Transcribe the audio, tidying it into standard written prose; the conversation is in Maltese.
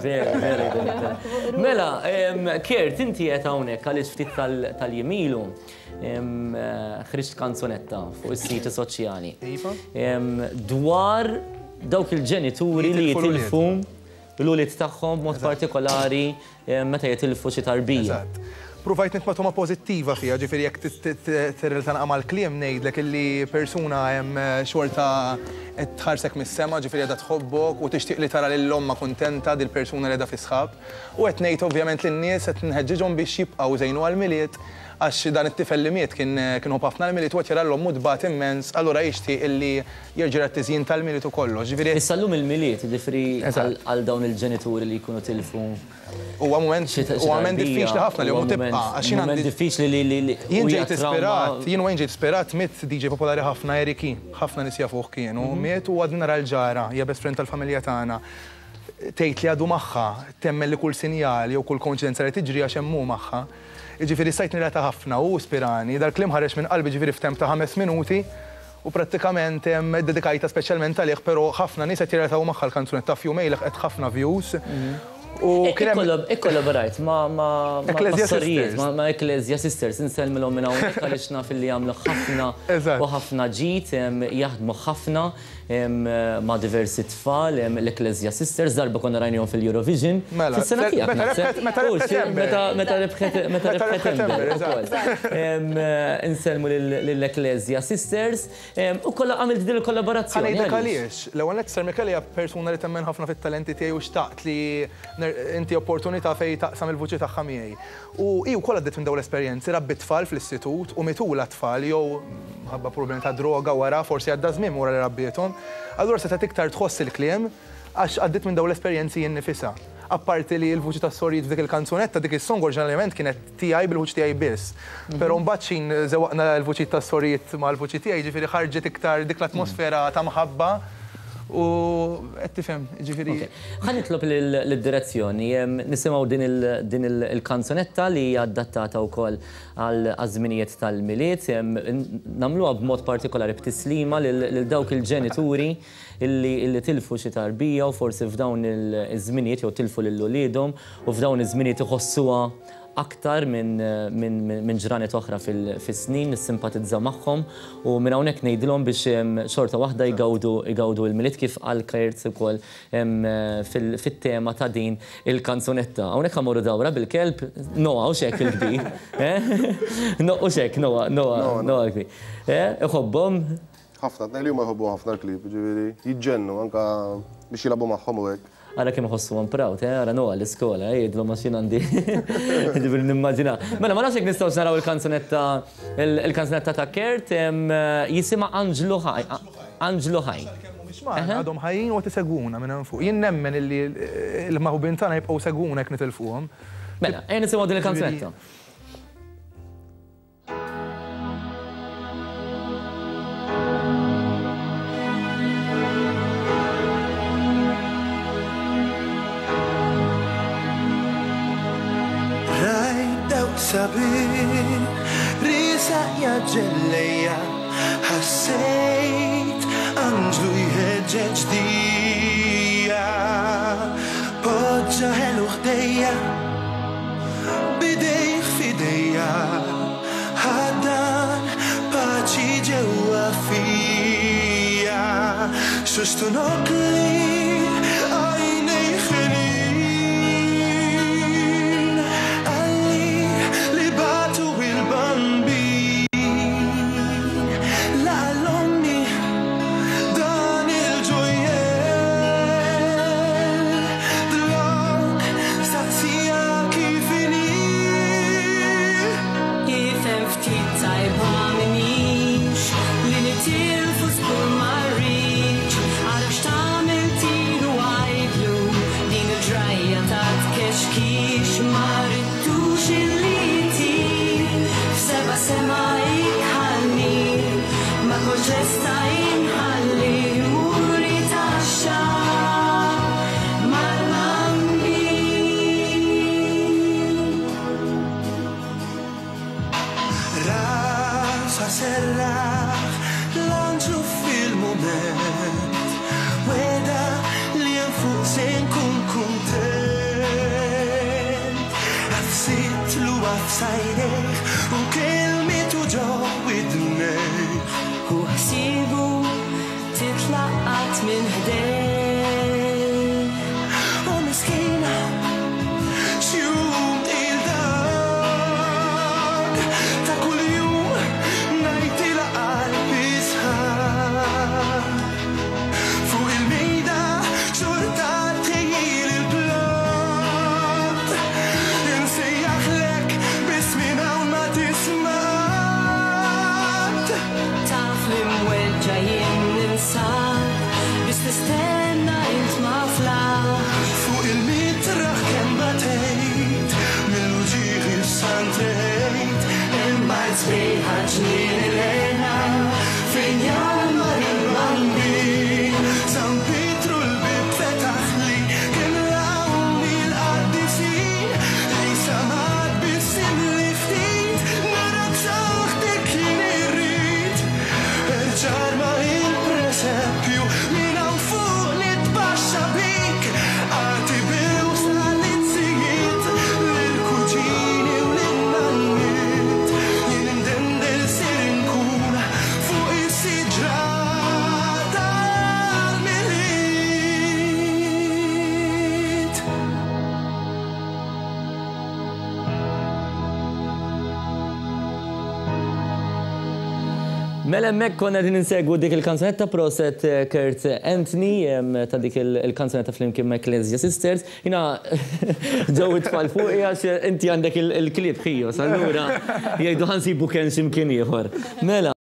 Vera, vera, vera. Mela, Kurt, inti qed hawnhekk għaliex ftit tal-jiem ilu ħriġt kanzunetta fuq is-siti soċjali. Iva. Dwar dawk il-ġenituri li jitilfu l-ulied tagħhom b'mod partikolari meta jitilfu xi tarbija. Eżatt. Pruvajt nitma' togħma pożittiva fiha, ġifieri jekk tirrelata naqra mal-kliem ngħidlek illi persuna hemm xorta qed tħarsek mis-sema, ġifieri qiegħda tħobbok u tixtieq li tara lil ommha kuntenta dil-persuna li qiegħda fis-sħab. U qed ngħid ovvjament lin-nies qed nħeġġiġhom biex jibqgħu jżejnu għall-Milied għax dan it-tifel li miet kien kien iħobb ħafna l-Milied u qed jara 'l ommu tbati immens, allura jixtieq illi jerġa' jara t-tiżjin tal-Milied u kollox. Ġifieri. Issa llum il-Milied, jiġifieri għal dawn il-ġenituri li jkunu tilfu Huwa mument huwa mument diffiċli ħafna li ommu tibqa' għax jien għandi. Mument diffiċli li li li Jien ġejt ispirat, jien wayne ġejt ispirat miet DJ popolari ħafna Eric E. Ħafna nies jafuh kienu, miet u għadni nara l-ġara, hija best friend tal-familja tagħna. Tgħid li għadu magħha, temmen li kull sinjal jew kull koinċidenza li tiġri għax hemm hu magħha. Jiġifieri stajt nirrelata ħafna, hu ispirani, dal-kliem ħareġ minn qalbi ġifieri f'temp ta' ħames minuti U prattikament iddedikajtha speċjalment għalih, però ħafna nies qed jirrelataw magħha l-kanzunetta f'jumejn leħqet ħafna views. U kien hemm. Ikkollaborajt ma' ma' Ecclesia sorijiet, Sisters. ma' Ecclesia Sisters, insellmilhom minn hawnhekk għaliex naf illi jagħmlu ħafna u ħafna ġid, jaħdmu ħafna ma' diversi tfal, l-Ecclesia Sisters, darba konna rajnihom fil-Eurovision. Mela, Fis-sena tiegħek meta naħseb. rebħet meta rebħet Amber. Meta rebħet meta rebħet Amber ukoll. Insellmu lill-Ecclesia Sisters. U kollha għamilt din il-kollaborazzjoni. Ħa ngħidlek għaliex. L-ewwel nett Sir Michele hija persuna li temmen ħafna fit-talenti tiegħi u xtaqt li inti opportunità fejn taqsam il-vuċi tagħha miegħi. U hi wkoll għaddiet minn dawn l-esperjenzi, rabbiet tfal fl-istitut u mitulha tfal jew minħabba problemi ta' droga wara, forsi għadda żmien wara li rabbiethom. Allura setgħet iktar tħoss il-kliem għax għaddiet minn dawn l-esperjenzi hi nnifisha. Apparti li l-vuċi tas-sorijiet f'dik il-kanzunetta, dik is-song oriġinarjament kienet tiegħi bil-vuċi tiegħi biss. Però mbagħad x'ħin żewwaqna l-vuċijiet tas-sorijiet mal-vuċi tiegħi, jiġifieri ħarġet iktar dik l-atmosfera ta' mħabba u qed tifhem, jiġifieri. Ok. Ħa nitlob lid-direzzjoni nisimgħu din il-kanzunetta li hija adattata wkoll għaż-żminijiet tal-Milied. Nagħmluha b'mod partikolari b'tislima lil dawk il-ġenituri illi tilfu xi tarbija u forsi f'dawn iż-żminijiet jew tilfu lil uliedhom u f'dawn iż-żminijiet iħossuha aktar minn ġranet oħra fis-snin, nissimpatizza magħhom u minn hawnhekk ngħidilhom biex xorta waħda jgawdu jgawdu l-Milied kif qal Kurt ukoll fit-tema ta' din il-kanzunetta. Hawnhekk ħa mmorru dawra bil-kelb, Noah hux hekk il-kbir, eh? Hux hekk Noah, Noah, Noah l-kbir. Eh, iħobbhom? Ħafna, tnejn li huma jħobbu ħafna l-klieb, jiġifieri jiġġennu anke biex jilagħbu magħhom u hekk. Ara kemm iħossuhom proud, eh, ara Noah l-iskola, eh, jgħidlhom għax jien għandi. Jiġifieri nimmaġina. Mela ma nafx jekk nistgħux naraw il-kanzunetta il-kanzunetta ta' Kurt, jisimha Anġlu Ħaj. Anġlu Ħaj. Sakemm mhumiex magħna, għadhom ħajjin u qed isegwuna minn hemm fuq. Jien nemmen illi l-maħbubin tagħna jibqgħu jsegwuna jekk nitilfuhom. Mela, ejja nisimgħu din il-kanzunetta. Rajt dawk sabiħ riesaq jaġġel lejja, ħassejt anġlu jħeġġeġ dija, poġġa ħelu ħdejja. B'idejh f'idejja ħaddan paċi ġewwa fija. Xuxtu nokli għajnejh ħelin. Qalli li bagħtu il-Bambin. Laqa' l-ommi dan il-ġojjell. Dlonk saqsija kif inhi. Ifhem ftit tajba minix li nitilfu żgur ma rridx. Ara x'tagħmel tilu għidlu din il-ġrajja ta' tkexkix ma ridtux illi jtir f'seba' sema ikħallni ma kontx lesta inħalli jmur jitgħaxxa mal-Bambin. Rasha serraħ l-anġlu fil-mument Wegħda li hemm fuq se nkun kuntent. Ħassitlu f'sajnejh u kelmitu ġo widnejh. U ħsibu titlaqqat minn ħdejh. U miskina, x'jum il-dak ta' kuljum ngħidilha qalbi sħab. Fuq il-mejda xorta tħejjil il-platt. Insejjaħlek biss minn hawn ma tisma' Taf li mweġġa' jien ninsab, biss tistenna int ma flaħ. Fuq il-mitraħ kemm batejt, mill-uġigħ issantejt, imma l-sbieħa ġnien il-hena fejn jgħammar il-Bambin. San Pietru l-bieb fetaħli, kien rawni l-qaddisin, li samad bissimli ftit, narak saħtek jien irrid. Erġa' ma il-presepju, minn hawn fuq nitbaxxa bik, għati bewsa l-insijiet, lill-kuġini u lin-nanniet. Jien indendel sir inkun fuq is-siġra tal-Milied. Mela hemmhekk konna qegħdin insegwu dik il-kanzunetta proset Kurt Anthony ta' dik il-kanzunetta flimkien ma' Ecclesia Sisters. Jiena ġew it-tfal fuqi għax inti għandek il-klieb ħijos, allura jgħidu ħa nsibu kenn xi mkien ieħor. Mela.